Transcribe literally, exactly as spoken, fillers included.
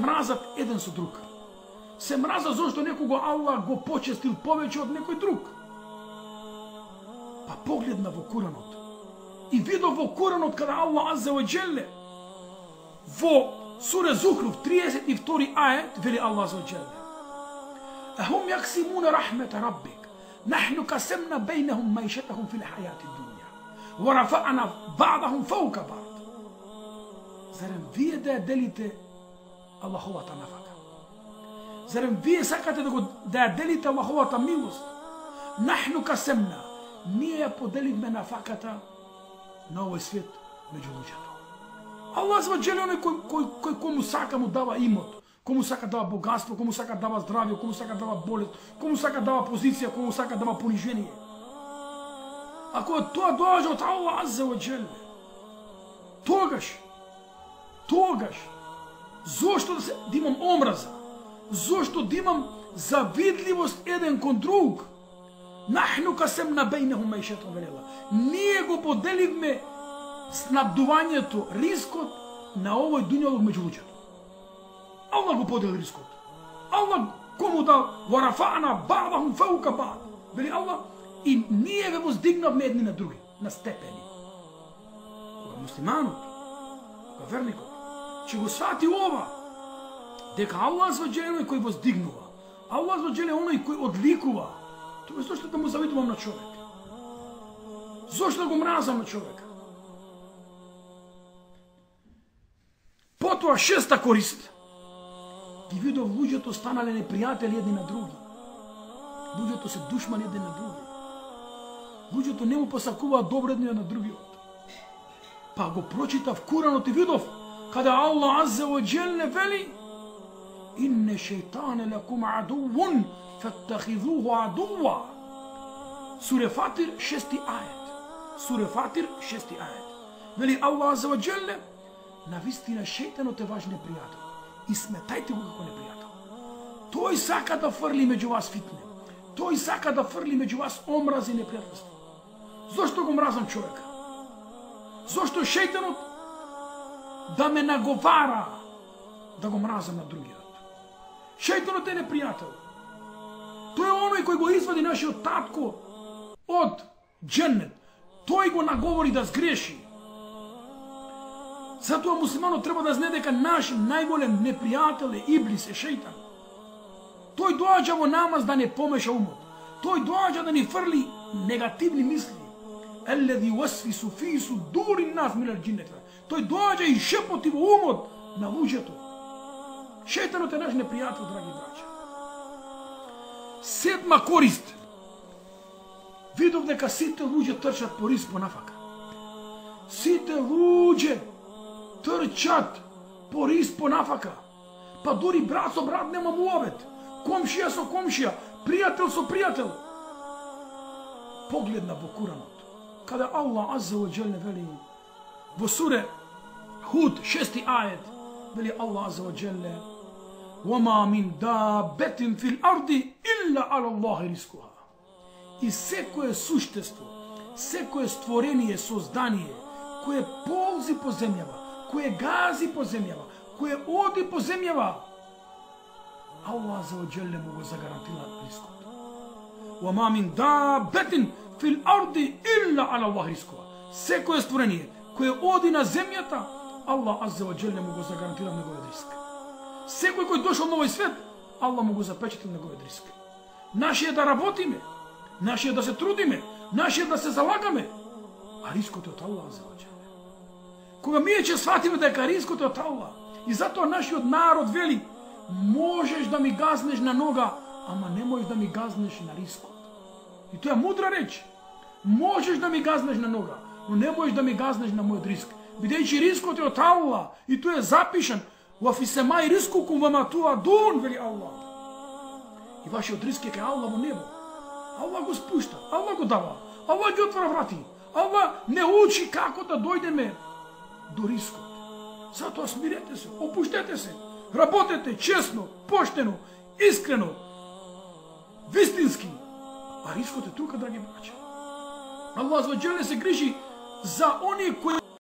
мразат еден со друг. Се мразат зашто некого Аллах го почестил повеќе од некој друг. Па погледна во Куранот и видов во Куранот када Аллах азза ва џелле во сура Зухруф триесет и втори ајет вели Аллах азза ва џелле: Ахум јаксимуна рахмета раббик, нахну касемна бейнахум маишетахум фил хајати дуња, ва рафаъна баъдахум фаука баъд. Зарем вие да ја делите Аллаховата нафака? Зарем вие сакате да го да ја делите Аллаховата милост? Нахну касемна, ние ја поделивме нафаката на овој свет меѓу луѓето. Аллах азза ва џелле оној кој кој кој кому сака му дава имот, кому сака дава богатство, кому сака дава здравје, кому сака дава болест, кому сака дава позиција, кому сака дава понижение. Ако тоа доаѓа од Аллах азза ва џелле, тогаш тогаш зошто да се да имам омраза, зошто да имам завидливост еден кон друг? Нахну касемна бейнахум маишетахум вели Аллах. Ние го поделивме снабдувањето, рискот на овој дуњалук меѓу луѓето. Аллах го подели рискот. Аллах кому да варафаъна баъдахум фаука баъд. Вели Аллах, и ние ве воздигнавме едни на други, на степени. Кога муслиманот, кога верникот, че го свати ова, дека Аллах азза ва џелле е оној кој воздигнува, Аллах азза ва џелле е оној кој одликува, тоа зошто да му завидувам на човек? Зошто да го мразам на човека? Потоа шеста корист. Ги видов луѓето станале непријатели едни на други. Луѓето се душмани едни на други. Луѓето не му посакуваат добро едни на другиот. Па го прочитав Куранот и видов каде Аллах азза ва џелле вели: Инне шејтане лакум адувун фаттахизуху адува. Суре Фатир шести ајет. Суре Фатир шести ајет. Вели Аллах азза ва џелле: навистина шејтанот е ваш непријател и сметајте го како непријател. Тој сака да фрли меѓу вас фитне. Тој сака да фрли меѓу вас омраз и непријателство. Зошто го мразам човека? Зошто шејтанот да ме наговара да го мразам на другиот? Шејтанот е непријател. Тој е оној кој го извади нашиот татко од џеннет. Тој го наговори да сгреши. Затоа муслиманот треба да знае дека наш најголем непријател е Иблис, е шејтан. Тој доаѓа во намаз да не помеша умот. Тој доаѓа да ни фрли негативни мисли. Еллези васвису фи судури нас минал џиннети. Тој доаѓа и шепоти во умот на луѓето. Шејтанот е наш непријател, драги браќа. Седма корист. Видов дека сите луѓе трчат по риск по нафака. Сите луѓе трчат по риск по нафака. Па дури брат со брат нема муавет. Комшија со комшија, пријател со пријател. Погледна во Куранот, каде Аллах азза ва џелле вели во суре Худ шести ајет, вели Аллах азза ва џелле: وَمَا مِنْ دَابَّةٍ فِي الْأَرْضِ إِلَّا عَلَى اللَّهِ رِزْقُهَا. И секое суштество, секое створение, создание, кое ползи по земјава, кое гази по земјава, кое оди по земјава, Аллах азза ва џелле му го загарантира рискот. وَمَا مِنْ دَابَّةٍ فِي الْأَرْضِ إِلَّا عَلَى اللَّهِ رِزْقُهَا. Секое створение кое оди на земјата, Аллах азза ва џелле му го загарантира неговиот риск. Секој кој дошол на овој свет, Аллах му го запечатил неговиот риск. Наше е да работиме, наше е да се трудиме, наше е да се залагаме, а рискот е од Аллах азза ва џелле. Кога ние ќе сватиме дека рискот е од Аллах, и затоа нашиот народ вели: можеш да ми газнеш на нога, ама не можеш да ми газнеш на рискот. И тоа е мудра реч. Можеш да ми газнеш на нога, но не можеш да ми газнеш на мојот риск. Бидејќи рискот е од Аллах и тој е запишан во фисемај рискукум ва ма туадун, вели Аллах. И вашиот риск е кај Аллах во небо. Аллах го спушта, Аллах го дава, Аллах ги отвара врати. Аллах не учи како да дојдеме до рискот. Затоа смирете се, опуштете се, работете честно, поштено, искрено, вистински. А рискот е тука, драги браќа. Аллах азза ва џелле се грижи за оние кои